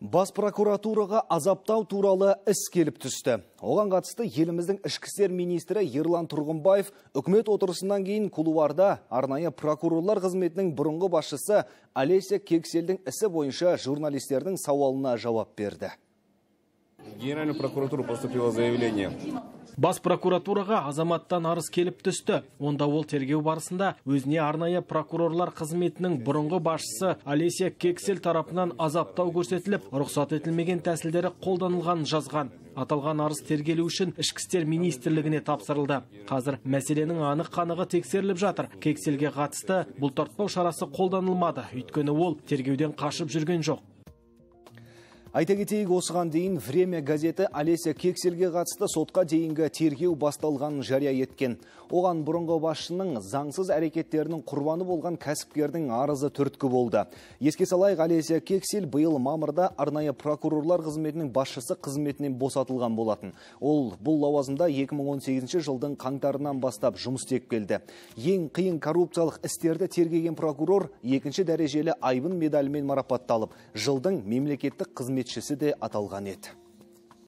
Бас прокуратураға азаптау туралы іс келіп түсті. Оған қатысты еліміздің ішкі істер министрі Ерлан Тұрғынбаев үкімет отырысынан кейін кулуарда арнайы прокурорлар қызметінің бұрынғы басшысы Олеся Кекселдің ісі бойынша журналистердің сауалына жауап берді. Генеральная прокуратура поступило заявление. Бас прокуратураға азаматтан арыз келіп түсті. Онда ол тергеу барысында өзіне арнайы прокурорлар қызметінің бұрынғы басшысы Олеся Кексель тарапынан азаптау көрсетіліп, рұқсат етілмеген тәсілдері қолданылған жазған. Аталған арыз тергелу үшін ішкі істер министрлігіне тапсырылды. Қазір мәселенің анық-қанығы тексеріліп жатыр. Кекселге қатысты бұлтартпау шарасы қолданылмады, өйткені ол тергеуден қашып жүрген жоқ. Айта кетейік, осыған дейін «Время» газеті Олеся Кекселге қатысты сотқа дейінгі тергеу басталғанын жария еткен. Оған бұрынғы басшының заңсыз әрекеттерінің құрбаны болған кәсіпкердің арызы түрткі болды. Еске салайық, Олеся Кексел биыл мамырда арнайы прокурорлар қызметінің басшысы қызметінен босатылған болатын. Ол бұл лауазымда 2018 жылдың қаңтарынан бастап жұмыс істеп келді. Ең қиын коррупциялық істерді тергеген прокурор екінші дәрежелі айбын медалімен марапатталып, жылдың мемлекеттік қызметшісі де аталған еді.